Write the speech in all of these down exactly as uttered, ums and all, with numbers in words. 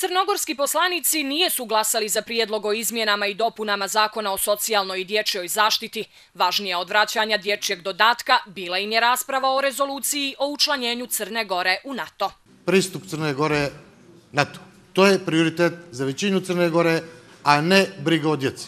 Crnogorski poslanici nijesu glasali za prijedlog o izmjenama i dopunama Zakona o socijalnoj i dječjoj zaštiti. Važnija od vraćanja dječjeg dodatka bila im je rasprava o rezoluciji o učlanjenju Crne Gore u NATO. Pristup Crne Gore NATO. To je prioritet za većinu Crne Gore, a ne briga o djeci.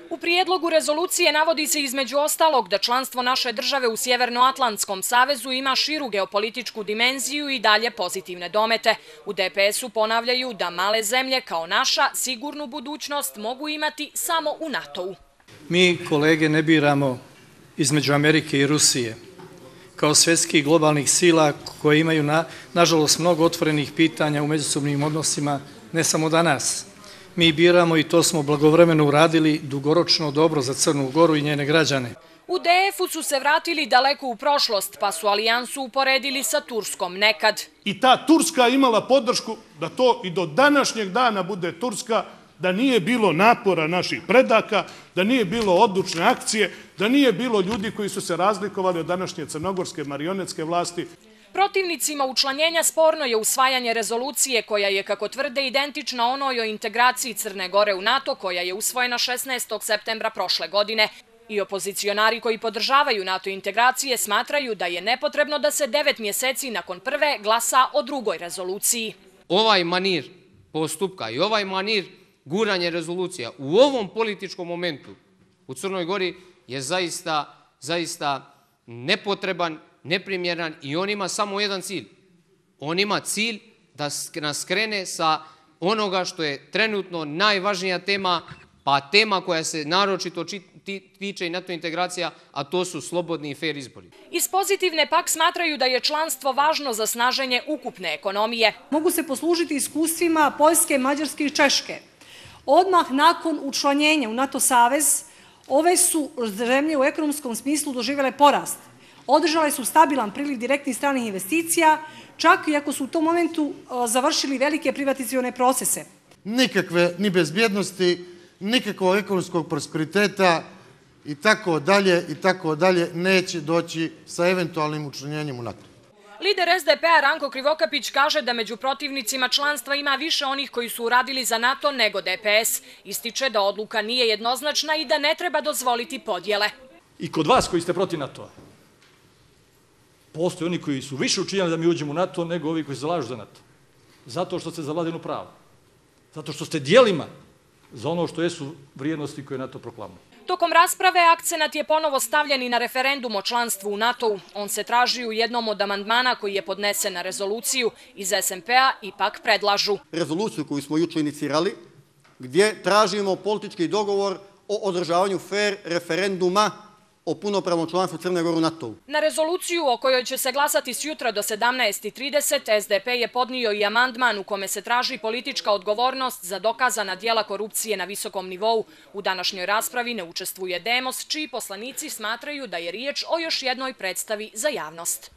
U prijedlogu rezolucije navodi se između ostalog da članstvo naše države u Sjevernoatlantskom savezu ima širu geopolitičku dimenziju i dalje pozitivne domete. U D P S-u ponavljaju da male zemlje kao naša sigurnu budućnost mogu imati samo u NATO-u. Mi, kolege, ne biramo između Amerike i Rusije kao svjetskih globalnih sila koje imaju, na, nažalost, mnogo otvorenih pitanja u međusobnim odnosima, ne samo danas. Mi biramo, i to smo blagovremeno uradili, dugoročno dobro za Crnu Goru i njene građane. U D F-u su se vratili daleko u prošlost, pa su alijansu uporedili sa Turskom nekad. I ta Turska imala podršku da to i do današnjeg dana bude Turska, da nije bilo napora naših predaka, da nije bilo odlučne akcije, da nije bilo ljudi koji su se razlikovali od današnje crnogorske marionetske vlasti. Protivnicima učlanjenja sporno je usvajanje rezolucije koja je, kako tvrde, identična onoj o integraciji Crne Gore u NATO koja je usvojena šesnaestog septembra prošle godine. I opozicionari koji podržavaju NATO integracije smatraju da je nepotrebno da se devet mjeseci nakon prve glasa o drugoj rezoluciji. Ovaj manir postupka i ovaj manir guranje rezolucija u ovom političkom momentu u Crnoj Gori je zaista, zaista nepotreban, neprimjeran i on ima samo jedan cilj. On ima cilj da nas skrene sa onoga što je trenutno najvažnija tema, pa tema koja se naročito tiče i NATO integracija, a to su slobodni i fer izbori. Iz pozitivne pak smatraju da je članstvo važno za snaženje ukupne ekonomije. Mogu se poslužiti iskustvima Poljske, Mađarske i Češke. Odmah nakon učlanjenja u NATO savez, ove su zemlje u ekonomskom smislu doživjele porast. Održale su stabilan priliv direktnih stranih investicija, čak i ako su u tom momentu završili velike privatizacione procese. Nikakve ni bezbjednosti, nikakvog ekonomskog prosperiteta i tako dalje i tako dalje neće doći sa eventualnim učlanjenjem u NATO. Lider S D P-a Ranko Krivokapić kaže da među protivnicima članstva ima više onih koji su uradili za NATO nego D P S. Ističe da odluka nije jednoznačna i da ne treba dozvoliti podjele. I kod vas koji ste protiv NATO-a, postoje oni koji su više učinjali da mi uđemo u NATO nego ovi koji se zalažu za NATO. Zato što ste za vladinu pravo. Zato što ste dijelima za ono što jesu vrijednosti koje NATO proklamuje. Tokom rasprave akcenat je ponovo stavljen i na referendum o članstvu u NATO-u. On se traži u jednom od amandmana koji je podnesen na rezoluciju. Iz S M P-a ipak predlažu rezoluciju koju smo jučer inicirali, gdje tražimo politički dogovor o održavanju fer referenduma o punopravnom članstvu Crne Gore u NATO-u. Na rezoluciju o kojoj će se glasati sjutra do sedamnaest i trideset S D P je podnio i amandman u kome se traži politička odgovornost za dokazana djela korupcije na visokom nivou. U današnjoj raspravi ne učestvuje Demos, čiji poslanici smatraju da je riječ o još jednoj predstavi za javnost.